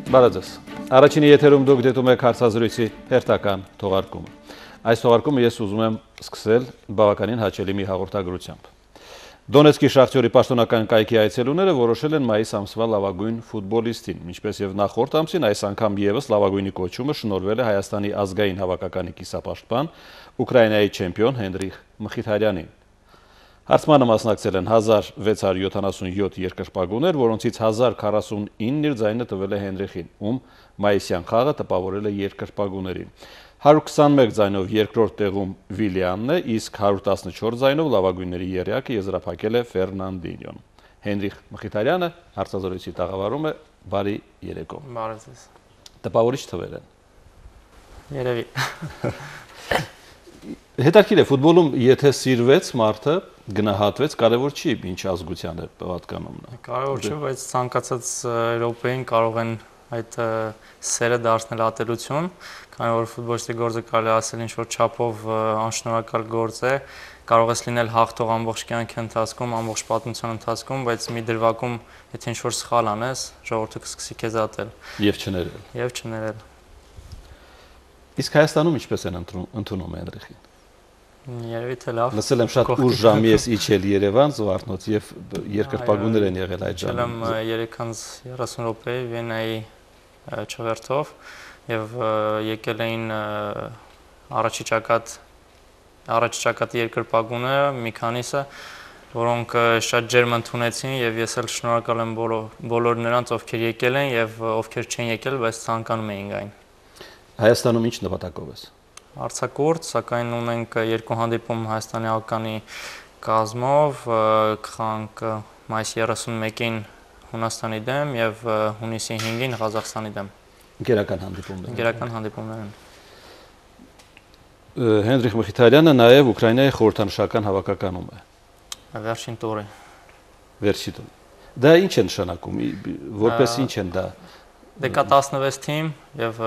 Բարեձեզ։ Առաջինի եթերում դուք դիտում եք հարցազրույցի հերթական թողարկումը։ Այս թողարկումը ես ուզում եմ սկսել բավականին հաճելի մի հաղորդագրությամբ։ Դոնեցկի Շախտյորի պաշտոնական կայքի այցելուները որոշել են մայիս ամսվա լավագույն ֆուտբոլիստին, ինչպես եւ նախորդ ամսին, այս անգամ եւս լավագույնի կոչումը շնորհվել է Հայաստանի ազգային հավաքականի կիսապաշտպան, Ուկրաինայի չեմպիոն Հենրիխ Մխիթարյանին։ Հարցմանը մասնակցել են 1677 երկրպագուներ, որոնցից 1049-ն իր ձայնը տվել է Հենրիխին, ում մայիսյան խաղը տպավորել է երկրպագուներին։ 121 ձայնով երկրորդ տեղում Վիլյանն է, իսկ 114 ձայնով լավագույնների եռյակը եզրափակել է Ֆերնանդինյոն։ Հենրիխ Մխիթարյանը հարցազրույցի տաղավարում է, բարի երեկո։ Բարեձեզ։ Տպավորիչ թվեր են։ Երևի։ Հետաքրքիր է, ֆուտբոլում եթե սիրվեց մարդը, գնահատվեց, կարևոր չի ինչ ազգության է պատկանում նա։ Կարևոր չէ, բայց ցանկացած եվրոպեին կարող են այդ սերը դարձնել ատելություն, քանի որ ֆուտբոլիստի գործը կարելի ասել ինչ որ չափով անշնորհակալ գործ է, կարող ես լինել հաղթող ամբողջ կյանքի ընթացքում, ամբողջ պատմության ընթացքում, բայց մի դրվագում եթե ինչ որ սխալ անես, ժողովուրդը կսկսի քեզ ատել։ Եվ չներել։ Եվ չներել։ Իսկ Հայաստանում ինչպես են ընդունում Հենրիխին։ Երևի թե լավ։ Լսել եմ շատ ուշ ժամի ես իջել Երևան զվարթնոց եւ երկրպագուներ են եղել այդ ժամին։ Իջել եմ 3:30 րոպեի Վիեննայի չվերթով եւ եկել էին առաջի ճակատի երկրպագուները, մի քանիսը, որոնք շատ ջերմ ընդունեցին եւ ես էլ շնորհակալ եմ բոլոր նրանց, ովքեր եկել են եւ ովքեր չեն եկել, բայց ցանկանում էին այն։ Հայաստանում ինչ նպատակով ես։ Արձակուրդ, սակայն ունենք երկու հանդիպում Հայաստանի հավաքականի կազմով, կխանք մայիսի 31-ին Հունաստանի դեմ եւ հունիսի 5-ին Ղազախստանի դեմ։ Ընկերական հանդիպումներ։ Ընկերական հանդիպումներ են։ Հենրիխ Մխիթարյանը նաեւ Ուկրաինայի խորհրդանշական հավաքականում է։ Վերջին տուրը։ Վերջին տուրը։ Դա ինչ է նշանակում, որպես ինչ են դա։ Դե կա 16 թիմ եւ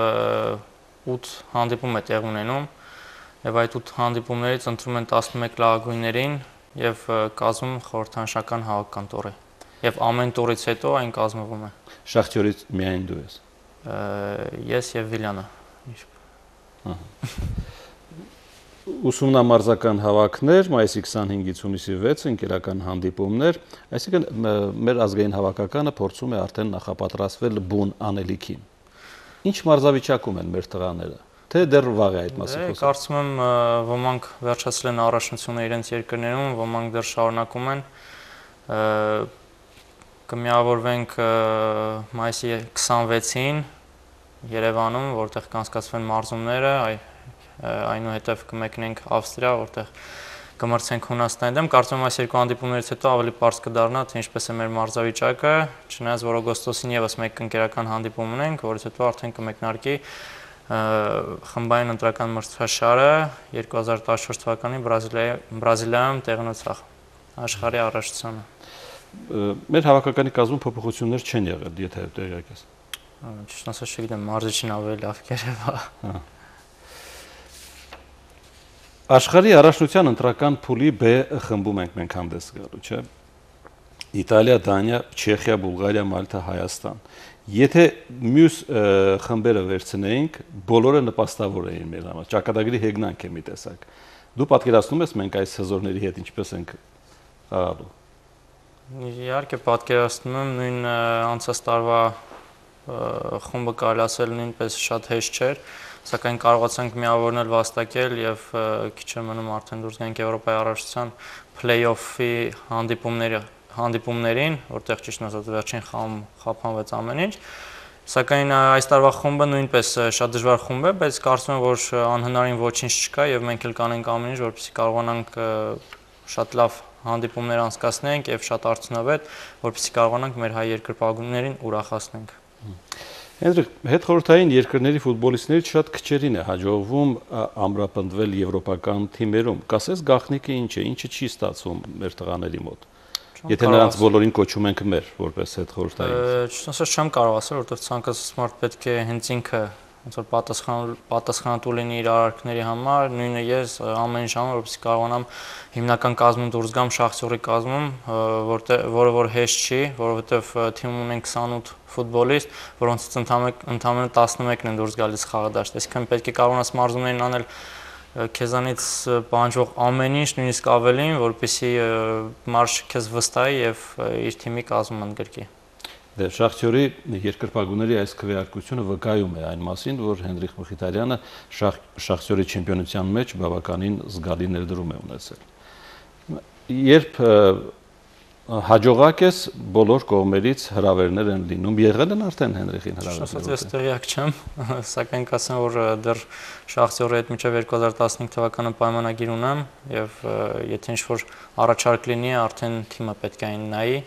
8 հանդիպում է տեղ ունենում եւ այդ 8 հանդիպումներից ընտրում են 11 լավագույններին եւ կազմում խորհրդանշական հավաքական տուրը եւ ամեն տուրից հետո այն կազմվում է։ Շախտյորից միայն դու ես։ Ես եւ Վիլյանը։ Ուսումնամարզական հավաքներ, մայիսի 25-ից հունիսի 6-ը ընկերական հանդիպումներ, այսինքն մեր ազգային հավաքականը փորձում է արդեն նախապատրաստվել բուն անելիքին։ Ինչ մարզավիճակում են մեր տղաները, թե դեռ վաղ է այդ մասին խոսքը։ Կարծում եմ ոմանք վերջացրել են առաջնությունը իրենց երկրներում, ոմանք դեռ շարունակում են։ Կմիավորվենք մայիսի 26-ին Երևանում, որտեղ կանցկացվեն մարզումները, այնուհետև կմեկնենք Ավստրիա, որտեղ կմրցենք Հունաստանի դեմ։ Կարծում եմ այս երկու հանդիպումներից հետո ավելի պարզ կդառնա, թե ինչպես է մեր մարզավիճակը, չնայած որ օգոստոսին եւս մեկ ընկերական հանդիպում ունենք, որից հետո արդեն կմեկնարկի խմբային ընտրական մրցաշարը 2014 թվականի Բրազիլիայում տեղի ունեցավ աշխարհի առաջնությանը։ Մեր հավաքականի կազմում փոփոխություններ չեն եղել, եթե տեղյակ ես։ Ճիշտ ասած չգիտեմ, մարզիչին ավելի լավ կերևա։ Աշխարհի առաջնության ընտրական փուլի B խմբում ենք մենք հանդես գալու, չէ՞։ Իտալիա, Դանիա, Չեխիա, Բուլղարիա, Մալթա, Հայաստան։ Եթե մյուս խմբերը վերցնեինք, բոլորը նպաստավոր էին մեր համար։ Ճակատագրի հեգնանք է մի տեսակ։ Դու պատկերացնում ես մենք այս հզորների հետ ինչպես ենք խաղալու։ Իհարկե պատկերացնում եմ, նույն անցած տարվա խումբը կարելի ասել նույնպես շատ հեշտ չէր, սակայն կարողացանք միավորնել, վաստակել եւ քիչ է մնում արդեն դուրս գանք Եվրոպայի առաջնության play-off-ի հանդիպումներին, որտեղ ճիշտ ասած վերջին խաղում խափանվեց ամեն ինչ։ Սակայն այս տարվա խումբը նույնպես շատ դժվար խումբ է, բայց կարծում եմ, որ անհնարին ոչինչ չկա եւ մենք էլ կանենք ամեն ինչ, որպեսզի կարողանանք շատ լավ հանդիպումներ անցկացնենք եւ շատ արդյունավետ, որպեսզի կարողանանք մեր հայ երկրպագուներին ուրախացնենք։ Հենրիխ, հետխորհրդային երկրների ֆուտբոլիստներից շատ քչերին է հաջողվում ամրապնդվել եվրոպական թիմերում։ Կասես գաղտնիքը ինչ է, ինչը չի ստացվում մեր տղաների մոտ։ Եթե նրանց բոլորին կոչում ենք մեր, որպես հետխորհրդային։ Չնայած չեմ կարող ասել, որովհետև ցանկացած մարդ պետք է հենց ինքը ոնց որ պատասխանատու լինի իր արարքների համար, նույնը ես ամեն ինչ անում, որպեսզի կարողանամ հիմնական կազմում դուրս գամ Շախտյորի կազմում, որը որ հեշտ չի, որովհետև թիմում ունենք 28 ֆուտբոլիստ, որոնցից ընդամենը 11-ն են դուրս գալիս խաղադաշտ։ Այսինքն պետք է կարողանաս մարզումներին անել քեզանից պահանջող ամեն ինչ, նույնիսկ ավելին, որպեսզի մարզը քեզ վստահի եւ իր թիմի կազմում ընդգրկի։ Դե Շախտյորի երկրպագուների այս քվեարկությունը վկայում է այն մասին, որ Հենրիխ Մխիթարյանը Շախտյորի չեմպիոնության մեջ բավականին զգալի ներդրում է ունեցել։ Երբ հաջողակ ես, բոլոր կողմերից հրավերներ են լինում, եղել են արդեն Հենրիխին հրավերներ։ Ես տեղյակ չեմ, սակայն կասեմ, որ դեռ Շախտյորի հետ մինչև 2015 թվականը պայմանագիր ունեմ եւ եթե ինչ-որ առաջարկ լինի, արդեն թիմը պետք է այն նայի,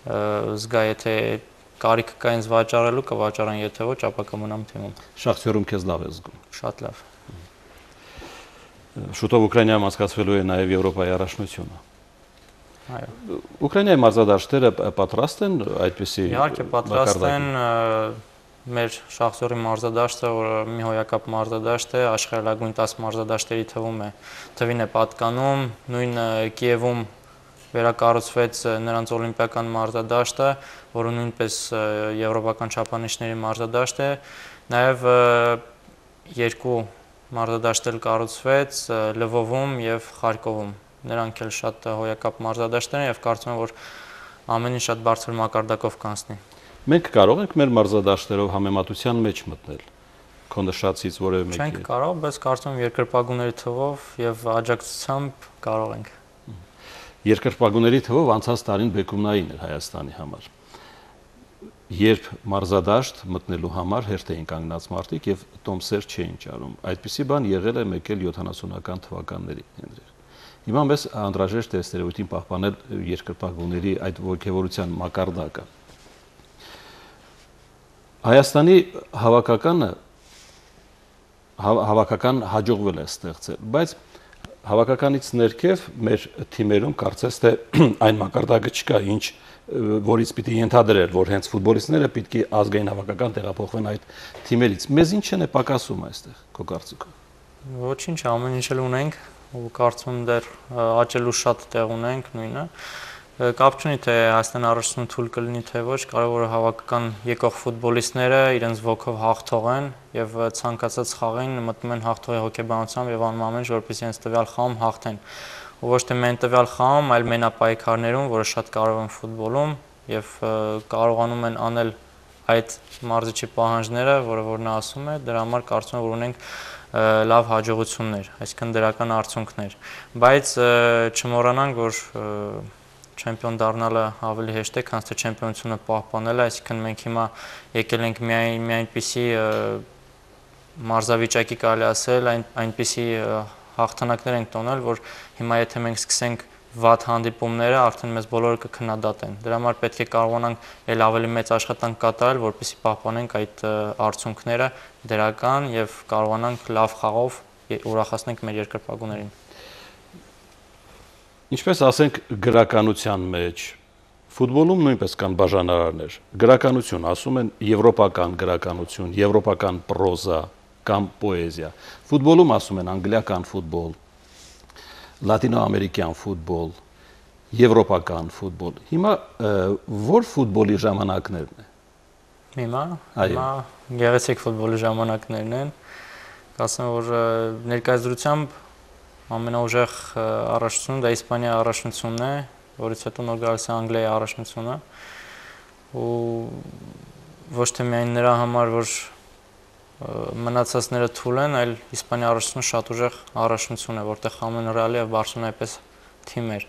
զգա, եթե կարիք կա ինձ վաճառելու, կվաճառեն, եթե ոչ, ապա կմնամ թիմում։ Շախտյորում քեզ լավ է զգում։ Շատ լավ։ Շուտով Ուկրաինայում անցկացվելու է նաև Եվրոպայի առաջնությունը։ Այո։ Ուկրաինայի մարզադաշտերը պատրաստ են այդպիսի։ Իհարկե պատրաստ են, մեր Շախտյորի մարզադաշտը, որը մի հոյակապ մարզադաշտ է, աշխարհայլագույն 10 մարզադաշտերի թվին է պատկանում, նույն Կիևում վերակառուցվեց նրանց օլիմպիական մարզադաշտը, որը նույնպես եվրոպական չափանիշների մարզադաշտ է, նաև երկու մարզադաշտ էլ կառուցվեց Լվովում եւ Խարկովում։ Նրանք էլ շատ հոյակապ մարզադաշտեր են եւ կարծում եմ, որ ամեն ինչ շատ բարձր մակարդակով կանցնի։ Մենք կարող ենք մեր մարզադաշտերով համեմատության մեջ մտնել։ Քո նշածից որևէ մեկի։ Չենք կարող, բայց կարծում եմ երկրպագուների թվով եւ աջակցությամբ կարող ենք։ Երկրպագուների թվով անցած տարին բեկումնային էր Հայաստանի համար։ Երբ մարզադաշտ մտնելու համար հերթ էին կանգնած մարդիկ եւ տոմսեր չէին ճարում։ Այդպիսի բան եղել է մեկ էլ 70-ական թվականներին։ Հիմա մեզ անհրաժեշտ է ստերեոտիպին պահպանել երկրպագուների այդ ոգևորության մակարդակը։ Հայաստանի հավաքական հաջողվել է ստեղծել, բայց հավաքականից ներքև մեր թիմերում կարծես թե այն մակարդակը չկա, ինչ որից պիտի ենթադրել, որ հենց ֆուտբոլիստները պիտի ազգային հավաքական տեղափոխվեն այդ թիմերից։ Մեզ ինչ են պակասում այստեղ, քո կարծիքով։ Ոչինչ, ամեն ինչ էլ ունենք, ու կարծում եմ դեռ աճելու շատ տեղ ունենք նույնը։ Կապ չունի թե Հայաստան առաջնություն թույլ կլինի թե ոչ, կարևորը հավաքական եկող ֆուտբոլիստները իրենց ոգով հաղթող են եւ ցանկացած խաղին մտնում են հաղթողի հոգեբանությամբ եւ անում ամեն ինչ, որպեսզի իրենց տվյալ խաղում հաղթեն։ Ու ոչ թե միայն տվյալ խաղում, այլ մենապայքարներում, որը շատ կարեւոր են ֆուտբոլում եւ կարողանում են անել այդ մարզիչի պահանջները, որը որ նա ասում է, դրա համար կարծում եմ, որ ունենք լավ հաջողություններ, այսինքն դրական արդյունքներ, բայց չմոռանանք, որ չեմպիոն դառնալը ավելի հեշտ է, քան թե չեմպիոնությունը պահպանելը, այսինքն մենք հիմա եկել ենք մի այնպիսի մարզավիճակի կարելի ասել, այնպիսի հաղթանակներ ենք տոնել, որ հիմա եթե մենք սկսենք վատ հանդիպումները, արդեն մեզ բոլորը կքննադատեն։ Դրա համար պետք է կարողանանք ել ավելի մեծ աշխատանք կատարել, որպեսզի պահպանենք այդ արդյունքները դրական եւ կարողանանք լավ խաղով ուրախացնենք մեր երկրպագուներին։ Ինչպես ասենք գրականության մեջ, ֆուտբոլում նույնպես կան բաժանարարներ։ Գրականություն, ասում են եվրոպական գրականություն, եվրոպական պրոզա կամ պոեզիա։ Ֆուտբոլում ասում են անգլիական ֆուտբոլ, լատինոամերիկյան ֆուտբոլ, եվրոպական ֆուտբոլ։ Հիմա որ ֆուտբոլի ժամանակներն է։ Հիմա գեղեցիկ ֆուտբոլի ժամանակներն են։ Կասեմ, որ ներկայացությամբ ամենաուժեղ առաջնությունը դա Իսպանիայի առաջնությունն է, որից հետո նոր գալիս է Անգլիայի առաջնությունը։ Ու ոչ թե միայն նրա համար, որ մնացածները թույլ են, այլ Իսպանիայի առաջնությունը շատ ուժեղ առաջնություն է, որտեղ ամեն Ռեալի եւ Բարսելոնայի պես թիմեր։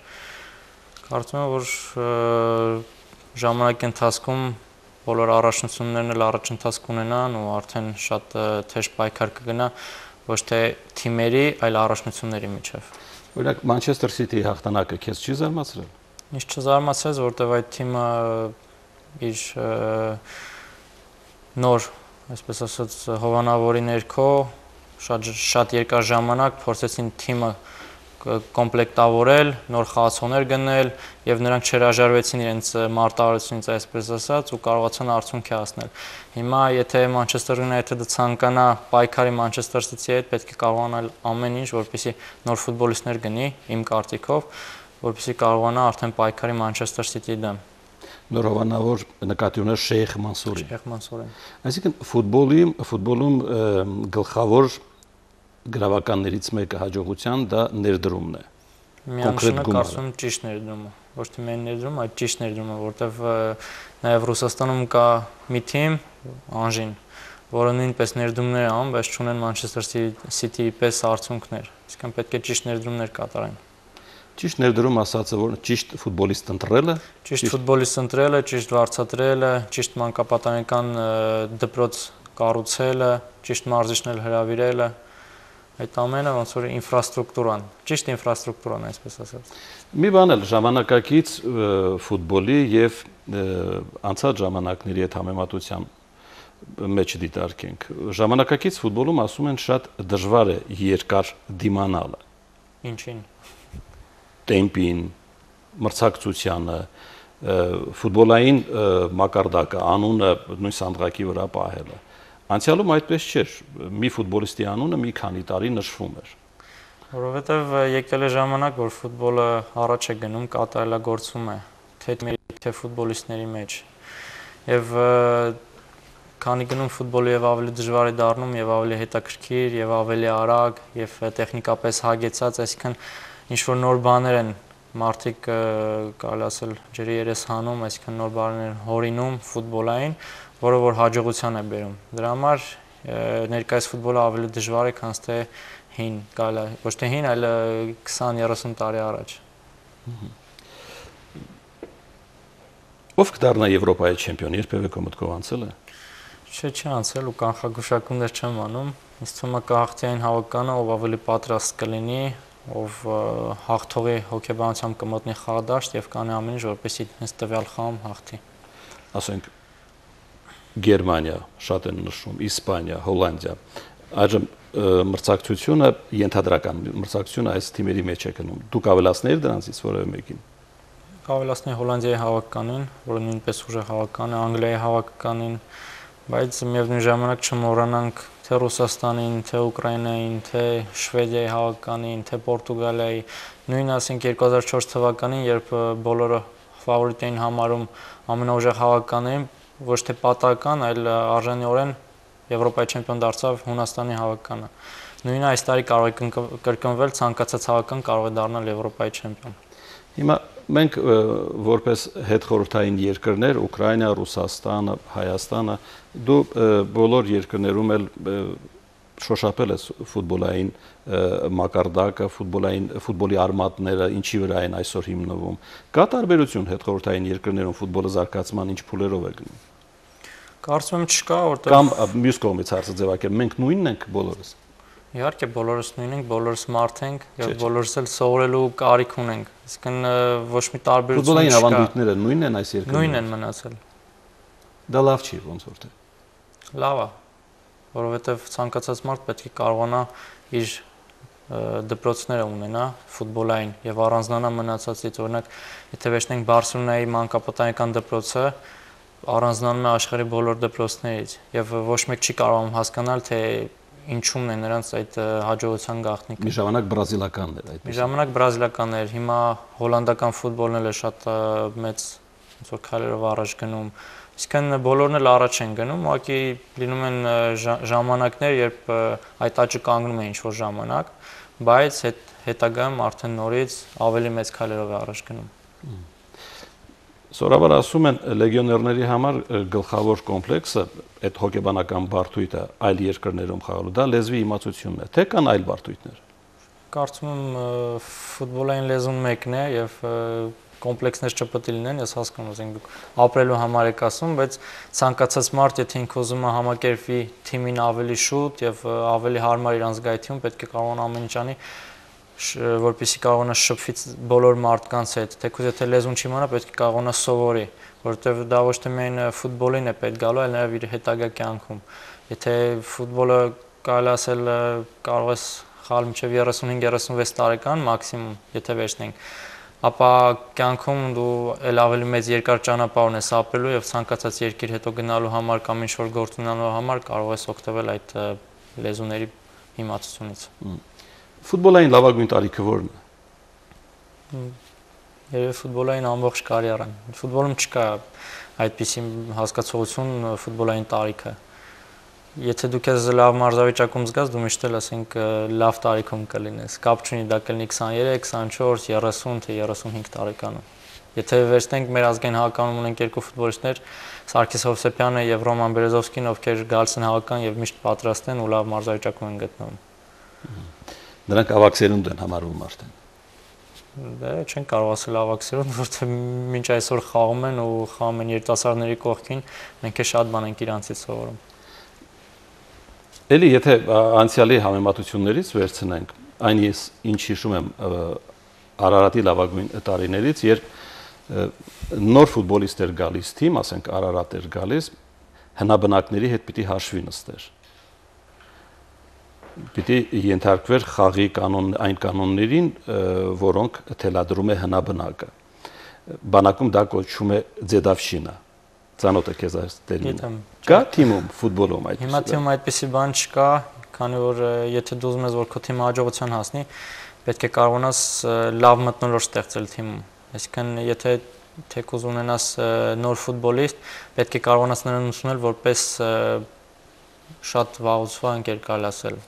Կարծում եմ, որ ժամանակի ընթացքում բոլոր առաջնություններն էլ առաջընթաց կունենան ու արդեն շատ թեժ պայքար կգնա ոչ թե թիմերի, այլ առաջնությունների միջև։ Օրինակ Մանչեսթեր Սիթիի հաղթանակը քեզ չի զարմացրել։ Ինչ չզարմացրեց, որտեղ այդ թիմը իր նոր, այսպես ասած, հովանավորի ներքո շատ երկար ժամանակ փորձեցին թիմը կոմպլեկտավորել, նոր խաղացողներ գնել եւ նրանք չհրաժարվեցին իրենց մարտահրավերությունից, այսպես ասած, ու կարողացան արդյունքի հասնել։ Հիմա եթե Manchester United-ը ցանկանա պայքարի Manchester City-ի հետ, պետք է կարողանալ ամեն ինչ, որպեսզի նոր ֆուտբոլիստներ գնի իմ կարծիքով, որպեսզի կարողանա արդեն պայքարի Manchester City-ի դեմ։ Նորովանավոր նկատի ունես Շեյխ Մանսուրին։ Շեյխ Մանսուրին։ Այսինքն ֆուտբոլում գլխավոր գրավականներից մեկը հաջողության դա ներդրումն է։ Միանշանակ կարծում եմ ճիշտ ներդրումը, ոչ թե միայն ներդրում, այլ ճիշտ ներդրումը, որտեվ նաև Ռուսաստանում կա մի թիմ Անժին, որը նույնպես ներդրումներ է անում, բայց չունեն Manchester City-ի պես արդյունքներ։ Իսկական պետք է ճիշտ ներդրումներ կատարեն։ Ճիշտ ներդրում ասածը որ ճիշտ ֆուտբոլիստ ընտրելը, ճիշտ ֆուտբոլիստ ընտրելը, ճիշտ վարձատրելը, ճիշտ մանկապատանեկան դպրոց կառուցելը, ճիշտ մարզիչներ հրավիրելը, այդ ամենը ոնց որ ինֆրաստրուկտուրան, ճիշտ ինֆրաստրուկտուրան, այսպես ասած։ Մի բան էլ ժամանակակից ֆուտբոլի եւ անցած ժամանակների հետ համեմատության մեջ դիտարկենք։ Ժամանակակից ֆուտբոլում ասում են շատ դժվար է երկար դիմանալը։ Ինչին։ Տեմպին, մրցակցությանը, ֆուտբոլային մակարդակը, անունը նույն սանդղակի վրա պահելը։ Անցյալում այդպես չէր։ Մի ֆուտբոլիստի անունը մի քանի տարի նշվում էր։ Որովհետև եկել է ժամանակ, որ ֆուտբոլը առաջ է գնում, կատարելագործվում է, թե ֆուտբոլիստների մեջ։ Եվ քանի գնում ֆուտբոլը եւ ավելի դժվար է դառնում, եւ ավելի հետաքրքիր, եւ ավելի արագ, եւ տեխնիկապես հագեցած, այսինքն ինչ-որ նոր բաներ են մարդիկ կարելի ասել ջրի երես հանում, այսինքն նոր բաներ են հորինում ֆուտբոլային, որը որ հաջողության է բերում։ Դրա համար ներկայիս ֆուտբոլը ավելի դժվար է, քան թե հին, կարելի է, ոչ թե հին, այլ 20-30 տարի առաջ։ Ով կդառնա Եվրոպայի չեմպիոն, երբևէ քո մտքով անցել է։ Չի անցել ու կանխագուշակումներ չեմ անում։ Ինձ թվում է կհաղթի այն հավականը, ով ավելի պատրաստ կլինի, ով հաղթողի հոգեբանությամբ կմտնի խաղադաշտ եւ կանի ամեն ինչ, որպեսզի հենց տվյալ խաղում հաղթի։ Ասենք Գերմանիա, շատ են նշում, Իսպանիա, Հոլանդիա։ Այժմ մրցակցությունը ենթադրական մրցակցությունը այս թիմերի մեջ է գնում։ Դուք ավելացնեիք դրանցից որևէ մեկին։ Ավելացնեի Հոլանդիայի հավաքականին, որը նույնպես ուժեղ հավաքական է, Անգլիայի հավաքականին, բայց միևնույն ժամանակ չմոռանանք թե Ռուսաստանին, թե Ուկրաինային, թե Շվեդիայի հավաքականին, թե Պորտուգալիայի, նույն ասենք 2004 թվականին, երբ բոլորը ֆավորիտ էին համարում ամենաուժեղ հավաքականներին, ոչ թե պատահական, այլ արժանիորեն Եվրոպայի չեմպիոն դարձավ Հունաստանի հավաքականը։ Նույնը այս տարի կարող է կրկնվել, ցանկացած հավաքական կարող է դառնալ Եվրոպայի չեմպիոն։ Հիմա մենք որպես հետխորհրդային երկրներ, Ուկրաինա, Ռուսաստանը, Հայաստանը, դու բոլոր երկրներում էլ շոշափել ես ֆուտբոլային մակարդակը, ֆուտբոլի արմատները ինչի վրա են այսօր հիմնվում։ Կա տարբերություն հետխորհրդային երկրներում ֆուտբոլը զարգացման ինչ փուլերով է գնում։ Կարծում եմ չկա, որտեղ կամ մյուս կողմից հարցը ձևակերպել, մենք նույնն ենք բոլորս։ Իհարկե բոլորս նույն ենք, բոլորս մարդ ենք եւ բոլորս էլ սովորելու կարիք ունենք։ Իսկն ոչ մի տարբերություն չկա։ Ֆուտբոլային ավանդույթները նույնն են այս երկրներում։ Նույնն են մնացել։ Դա լավ չի, ոնց որ թե։ Լավ է, որովհետեւ ցանկացած մարդ պետք է կարողանա իր դպրոցները ունենա ֆուտբոլային եւ առանձնանա մնացածից։ Օրինակ, եթե վերցնենք Բարսելոնայի մանկապատանեկան դպրոցը, առանձնանում է աշխարհի բոլոր դպրոցներից եւ ոչ մեկ չի կարողանում հասկանալ, թե ինչումն է նրանց այդ հաջողության գաղտնիքը։ Մի ժամանակ բրազիլականն էր այդպես։ Մի ժամանակ բրազիլականն էր, հիմա հոլանդական ֆուտբոլն էլ է շատ մեծ ոնց որ քայլերով առաջ գնում։ Իսկն բոլորն էլ առաջ են գնում, ուղղակի լինում են ժամանակներ, երբ այդ աճը կանգնում է ինչ-որ ժամանակ, բայց հետագայում արդեն նորից ավելի մեծ քայլերով է առաջ գնում։ Սովորաբար ասում են լեգիոներների համար գլխավոր կոմպլեքսը, այդ հոգեբանական բարդույթը այլ երկրներում խաղալու, դա լեզվի իմացությունն է, թե կան այլ բարդույթներ։ Կարծում եմ ֆուտբոլային լեզուն մեկն է եւ կոմպլեքսներ չպետք է լինեն, ես հասկանում եմ, դուք ապրելու համար եք ասում, բայց ցանկացած մարդ, եթե ինքը ուզում է համակերպվի թիմին ավելի շուտ եւ ավելի հարմար իր անձգայթյուն, պետք է կարողանա ամեն ինչ անի, որպեսզի կարողանա շփվի բոլոր մարդկանց հետ, թեկուզ եթե լեզուն չիմանա, պետք է կարողանա սովորի, որովհետեւ դա ոչ թե միայն ֆուտբոլին է պետք գալու, այլ նաեւ իր հետագա կյանքում։ Եթե ֆուտբոլը կարելի ասել կարող ես խաղալ մինչև 35-36 տարեկան մաքսիմում, եթե վերցնենք, ապա կյանքում դու էլ ավելի մեծ երկար ճանապարհ ես ապրելու եւ ցանկացած երկիր հետո գնալու համար կամ ինչ-որ գործ ունենալու համար կարող ես օգտվել այդ լեզուների իմացությունից։ Ֆուտբոլային լավագույն տարիքը ո՞րն է։ Երևի ֆուտբոլային ամբողջ կարիերան։ Ֆուտբոլում չկա այդպիսի հասկացողություն ֆուտբոլային տարիքը։ Եթե դու քեզ լավ մարզավիճակում զգաս, դու միշտ էլ ասենք լավ տարիքում կլինես։ Կապ չունի դա կլինի 23, 24, 30 թե 35 տարեկանում։ Եթե վերցնենք մեր ազգային հավաքանում ունենք երկու ֆուտբոլիստներ, Սարգիս Հովսեփյանը եւ Ռոման Բերեզովսկին, ովքեր գալիս են հավաքան եւ միշտ պատրաստ են ու լավ մարզավիճակում են գտնվում։ Նրանք ավագ սերունդ են համարվում արդեն։ Դե չեն կարող ասել ավագ սերունդ, որովհետեւ մինչ այսօր խաղում են ու խաղում են երիտասարդների կողքին, մենք է շատ բան ենք իրանցից սովորում։ Էլի եթե անցյալի համեմատություններից վերցնենք, այն ես ինչ հիշում եմ Արարատի լավագույն տարիներից, երբ նոր ֆուտբոլիստ էր գալիս թիմ, ասենք Արարատ էր գալիս, հնաբնակների հետ պիտի հաշվի նստեր։ Պիտի ենթարկվեր խաղի այն կանոններին, որոնք թելադրում է հնաբնակը։ Բանակում դա կոչվում է ձեդավշինա։ Ծանոթ եք ես այս տերմինը։ Կա թիմում ֆուտբոլում այդպես։ Հիմա թիմում այդպիսի բան չկա, քանի որ եթե դու ուզում ես որ քո թիմը հաջողության հասնի, պետք է կարողանաս լավ մթնոլորտ ստեղծել թիմում։ Այսինքն եթե թեկուզ ունենաս նոր ֆուտբոլիստ, պետք է կարողանաս նրան ուսուցնել որպես շատ վաղուցվա ընկեր կարելի ասել։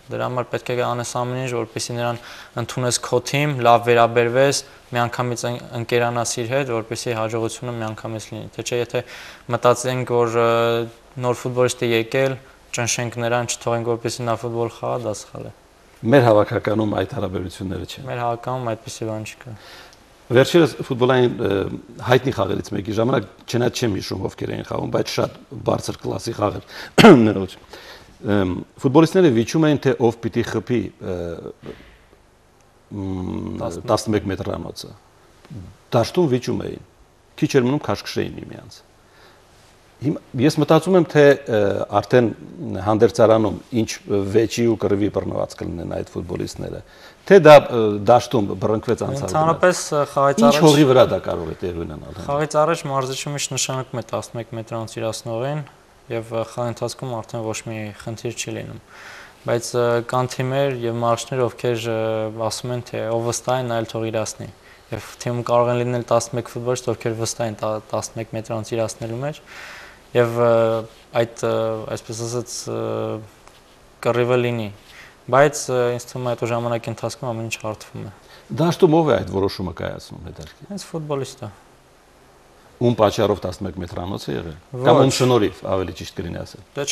Դրա համար պետք է անես ամեն ինչ, որպեսզի նրան ընդունես քո թիմ, լավ վերաբերվես, միանգամից ընկերանաս իր հետ, որպեսզի հաջողությունը միանգամից լինի։ Թե չէ եթե մտածենք, որ նոր ֆուտբոլիստ է եկել, ճնշենք նրան, չթողենք որպեսզի նա ֆուտբոլ խաղա, դա սխալ է։ Մեր հավաքականում այդ հարաբերությունները չեն։ Մեր հավաքականում այդպիսի բան չկա։ Վերջերս ֆուտբոլային հայտնի խաղերից մեկի ժամանակ չնայած չեմ հիշում ովքեր էին խաղում, բայց շատ բարձր կլասի խաղեր ներողություն։ Ֆուտբոլիստները վիճում էին, թե ով պիտի խփի 11 մետրանոցը։ Դաշտում վիճում էին։ Քիչ էր մնում քաշքշեին միմյանց։ Ես մտածում եմ, թե արդեն հանդերձարանում ինչ վեճի ու կռվի բռնված կլինեն այդ ֆուտբոլիստները, թե դա դաշտում բռնկվեց անցավ։ Ընդհանրապես խաղից առաջ ինչ հողի վրա դա կարող է տեղի ունենալ։ Խաղից առաջ մարզիչը միշտ նշանակում է 11 մետրանոց իրացնողին եւ խաղի ընթացքում արդեն ոչ մի խնդիր չի լինում։ Բայց կան թիմեր եւ մարզիչներ, ովքեր ասում են, թե ով վստահ է, նա էլ թող իրացնի։ Եվ թիմում կարող են լինել 11 ֆուտբոլիստ, ովքեր վստահ են 11 մետրանոց իրացնելու մեջ։ Եվ այդ այսպես ասած կռիվը լինի, բայց ինձ թվում է այդ ժամանակի ընթացքում ամեն ինչ հարթվում է։ Դաշտում ով է այդ որոշումը կայացնում հետարքի։ Հենց ֆուտբոլիստը։ Ում պատճառով 11 մետրանոց է եղել։ Կամ ում շնորհիվ, ավելի ճիշտ կլինի ասել։ Դա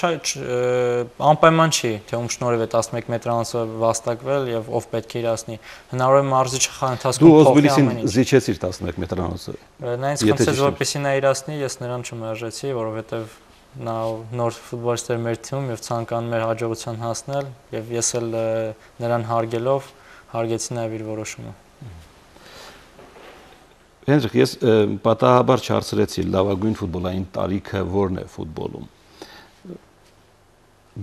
անպայման չի, թե ում շնորհիվ է 11 մետրանոցը վաստակվել եւ ով պետք է իրացնի։ Հնարավոր է մարզիչը խաղի ընթացքում փոխի ամեն ինչ։ Դու Օզբիլիսին զիջեցիր 11 մետրանոցը։ Նա ինձ խնդրեց, որպեսզի նա իրացնի, ես նրան չմերժեցի, որովհետեւ նա նոր ֆուտբոլիստ էր մեր թիմում եւ ցանկանում էր հաջողության հասնել եւ ես էլ նրան հարգելով հարգեցի նաեւ իր որոշումը։ Հենրիկ, ես պատահաբար չհարցրեցի լավագույն ֆուտբոլային տարիքը ո՞րն է ֆուտբոլում։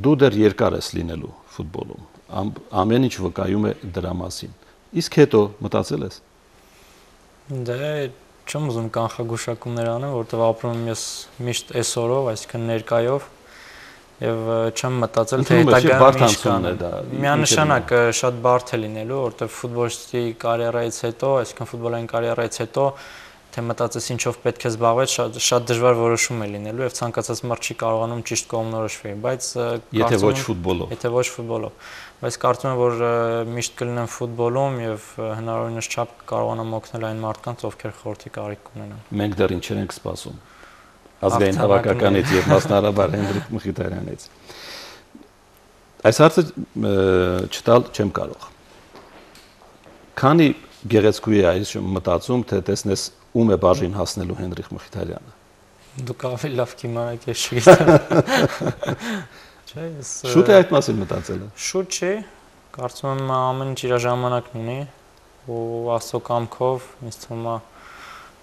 Դու դեռ երկար ես լինելու ֆուտբոլում։ Ամեն ինչ վկայում է դրա մասին։ Իսկ հետո մտածել ես։ Դե չեմ ուզում կանխագուշակումներ անեմ, որովհետև ապրում եմ ես միշտ այսօրով, այսինքն ներկայով, եւ չեմ մտածել թե հետագայում ինչ կանեմ։ Միանշանակ շատ բարդ է լինելու, որովհետև ֆուտբոլիստի կարիերայից հետո, այսինքն ֆուտբոլային կարիերայից հետո թե մտածես ինչով պետք է զբաղվես, շատ դժվար որոշում է լինելու եւ ցանկացած մարդ չի կարողանում ճիշտ կողմնորոշվել, բայց եթե ոչ ֆուտբոլով։ Եթե ոչ ֆուտբոլով։ Բայց կարծում եմ, որ միշտ կլինեմ ֆուտբոլում եւ հնարավորինս չափ կարողանամ օգնել այն մարդկանց, ովքեր խորհրդի կարիք ունենան։ Մենք դեռ ինչեր ենք սպասում ազգային հավաքականից եւ մասնարարաբար Հենրիկ Մխիթարյանից։ Այս հարցը չտալ չեմ կարող։ Քանի գեղեցկուի է այս մտածում, թե տեսնես ում է բաժին հասնելու Հենրիկ Մխիթարյանը։ Դուք ավելի լավ կիմանաք, ես չգիտեմ։ Չէ, ես շուտ է այդ մասին մտածելը։ Շուտ չի, կարծում եմ ամեն ինչ իր ժամանակն ունի ու Աստծո կամքով ինձ թվում է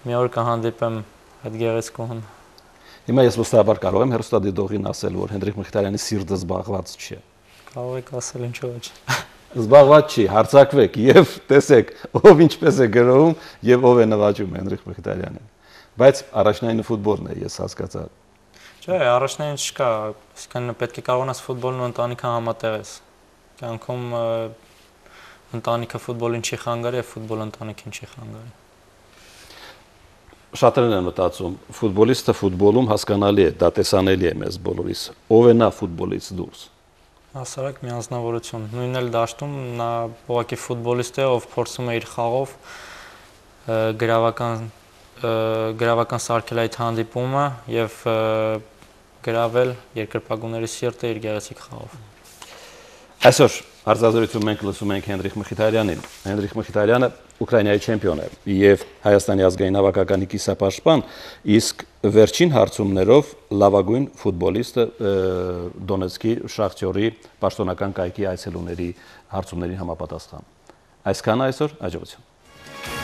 մի օր կհանդիպեմ այդ գեղեցկուհուն։ Հիմա ես վստահաբար կարող եմ հեռուստադիտողին ասել, որ Հենրիկ Մխիթարյանի սիրտը զբաղված չէ։ Կարող եք ասել, ինչու՞ ոչ։ զբաղված չի, հարցակվեք եւ տեսեք ով ինչպես է գրում եւ ով է նվաճում Հենրիխ Մխիթարյանին։ Բայց առաջնային ֆուտբոլն է, ես հասկացա։ Չէ, առաջնային չկա, այսինքն պետք է կարողանաս ֆուտբոլն ու ընտանիքը համատեղես։ Կյանքում ընտանիքը ֆուտբոլին չի խանգարի, եւ ֆուտբոլը ընտանիքին չի խանգարի։ Շատերն են մտածում, ֆուտբոլիստը ֆուտբոլում հասկանալի է, դա տեսանելի է մեզ բոլորիս։ Ով է նա ֆուտբոլից դուրս։ Հասարակ միանձնավորություն։ Նույնն էլ դաշտում նա ուղղակի ֆուտբոլիստ է, ով փորձում է իր խաղով գրավական սարքել այդ հանդիպումը եւ գրավել երկրպագուների սիրտը իր գեղեցիկ խաղով։ Այսօր հարցազրույցում մենք լսում ենք Հենրիխ Մխիթարյանին։ Հենրիխ Մխիթարյանը Ուկրաինայի չեմպիոն է եւ Հայաստանի ազգային հավաքականի կիսապաշտպան, իսկ վերջին հարցումներով լավագույն ֆուտբոլիստը Դոնեցկի Շախտյորի պաշտոնական կայքի այցելուների հարցումներին համապատասխան։ Այսքանը այսօր, հաջողություն։